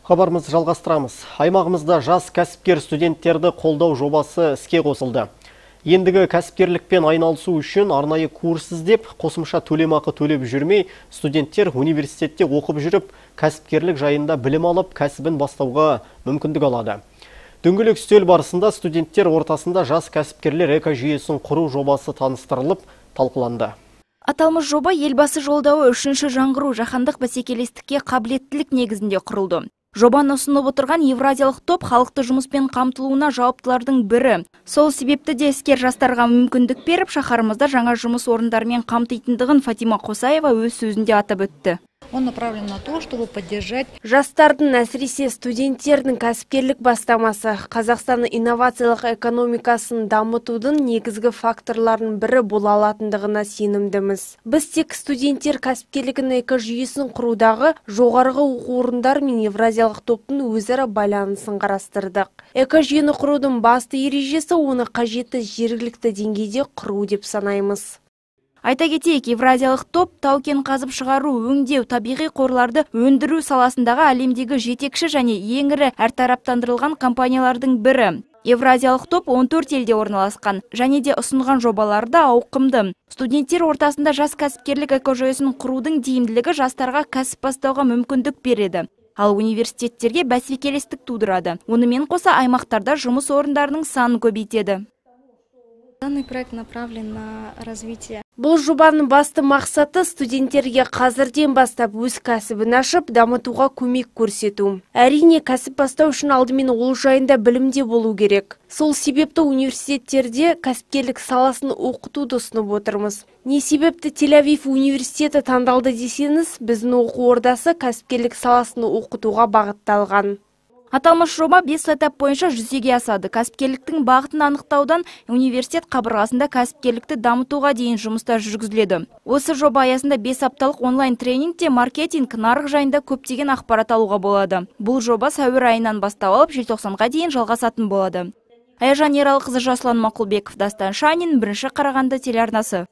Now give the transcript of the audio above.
Хабарымызды жалғастырамыз. Аймағымызда жас кәсіпкер студенттерді қолдау жобасы іске қосылды. Ендігі кәсіпкерлікпен айналысу үшін арнайы курс іздеп, қосымша төлемақы төлеп жүрмей, студенттер университетте оқып жүріп, кәсіпкерлік жайында білім алып, кәсібін бастауға мүмкіндік алады. Дөңгелек үстел барысында студенттер ортасында жас кәсіпкерлер экожүйесін құру жобасы таныстырылып, талқыланды. Аталмыш жоба елбасы жолдауы үшінші жаңғыру жаһандық бәсекелестікке қабілеттілік негізінде құрылды. Жобаны ұсынып отырған Евразиялық топ халықты жұмыспен қамтылуына жауаптылардың бірі. Сол себепті де іскер жастарға мүмкіндік беріп, шаһарымызда жаңа жұмыс орындарымен қамтитындығын Фатима Қосаева өз сөзінде атап өтті. Он направлен на то, чтобы поддержать жастардың, әсіресе студенттердің кәсіпкерлік бастамасы Қазақстанның инновациялық экономикасын дамытудың негізгі факторларын бірі бола алатындығына сенімдіміз. Біз тек студенттер кәсіпкерлігінің экожүйесін құрудағы жоғарғы оқу орындары мен Евразиялық топтың өзара байланысын қарастырдық. Экожүйені құрудың басты ережесі оны қажетті жергілікті деңгейде құру деп санаймыз. Айта кетейік, Евразиялық топ тау-кен қазып шығару, өңдеу, табиғи қорларды өндіру саласындағы әлемдегі жетекші және ең ірі әртараптандырылған компаниялардың бірі. Евразиялық топ 14 елде орналасқан және де ұсынған жобаларды ауқымды. Студенттер ортасында жас кәсіпкерлік экожүйесін құрудың тиімділігі жастарға кәсіп бастауға мүмкіндік береді. Ал университеттерге бәсекелестік тудырады. Онымен қоса аймақтарда жұмыс орындарының санын көбейтеді. Данный проект направлен на развитие. Бұл жобаның басты мақсаты студенттерге қазірден бастап өз кәсібін ашып, дамытуға көмек көрсету. Әрине, кәсіп бастау үшін алдымен ол жайында білімде болу керек. Сол себепті университеттерде кәсіпкерлік саласын оқытуды ұсынып отырмыз. Не себепті Тель-Авив университеті таңдалды десеңіз, біздің оқу ордасы кәсіпкерлік саласын оқытуға бағытталған. Аталмыш жоба 5 этап бойынша жүзеге асады. Кәсіпкерліктің бағытын анықтаудан университет қабырғасында кәсіпкерлікті дамытуға дейін жұмыстар жүргізіледі. Осы жоба аясында 5 апталық онлайн тренингте маркетинг, нарық жайында көптеген ақпарат алуға болады. Бұл жоба сәуір айынан бастап алып, желтоқсанға дейін жалғасатын болады. Аяжан Ералықызы, Жасұлан Мақұлбеков, Дастан Шанин, 1 Қарағанды телеарнасы.